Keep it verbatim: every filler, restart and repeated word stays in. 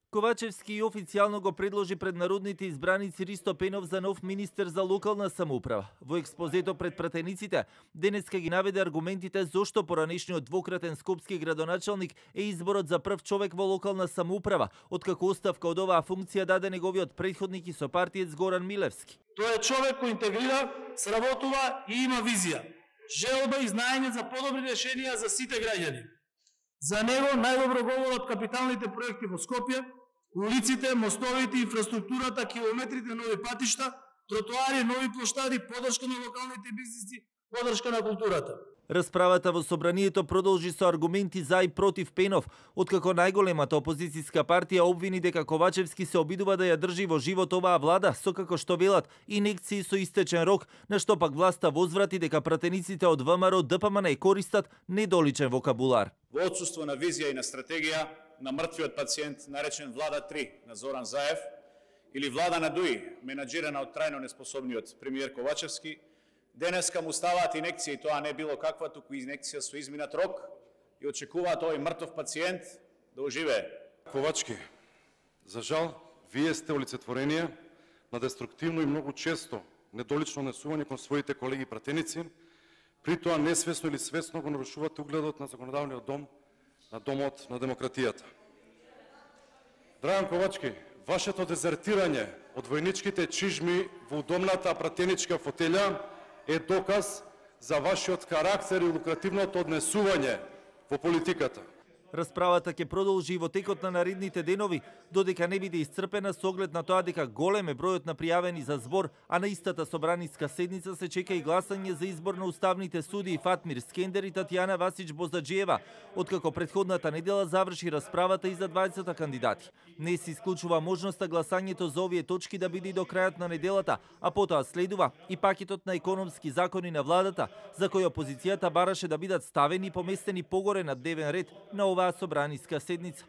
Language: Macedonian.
Ковачевски официјално го предложи пред народните избраници Ристо Пенов за нов министер за локална самоуправа. Во експозето пред пратениците, денеска ги наведе аргументите зошто поранешниот двократен скопски градоначалник е изборот за прв човек во локална самоуправа, откако оставка од оваа функција даде неговиот претходник и сопартиец Горан Милевски. Тој е човек кој интегрира, сработува и има визија, желба и знаење за подобри решенија за сите граѓани. За него најдобро говорат капиталните проекти во Скопје, улиците, мостовите, инфраструктурата, километрите нови патишта, тротоари, нови плоштади, поддршка на локалните бизниси, поддршка на културата. Расправата во собранието продолжи со аргументи за и против Пенов, откако најголемата опозицијска партија обвини дека Ковачевски се обидува да ја држи во живот оваа влада, со како што велат инекции со истечен рок, на што пак власта возврати дека пратениците од ВМРО Д П М Н користат недоличен вокабулар. Во отсуство на визија и на стратегија на мртвиот пациент наречен Влада три на Зоран Заев или Влада на Дуи, менаџирана од трајно неспособниот премиер Ковачевски, денеска му ставаат инекција и тоа не било каква, туку инекција со изминат рок и очекуваат овој мртов пациент да оживее. Ковачки, за жал, вие сте олицетворение на деструктивно и многу често недолично однесување кон своите колеги пратеници, при тоа несвесно или свесно го нарушувате угледот на законодавниот дом, на домот на демократијата. Драган Ковачки, вашето дезертирање од војничките чижми во удобната пратеничка фотелја е доказ за вашиот карактер и лукративното однесување во политиката. Расправата ќе продолжи и во текот на наредните денови, додека не биде исцрпена со оглед на тоа дека голем е бројот на пријавени за збор, а на истата собраниска седница се чека и гласање за избор на уставните судии Фатмир Скендер и Татјана Васич Бозаџиева, откако претходната недела заврши расправата и за дваесет кандидати. Не се исклучува можноста гласањето за овие точки да биде и до крајот на неделата, а потоа следува и пакетот на економски закони на владата, за кој опозицијата бараше да бидат ставени и поместени погоре на дневен ред на оваа собраниска седница.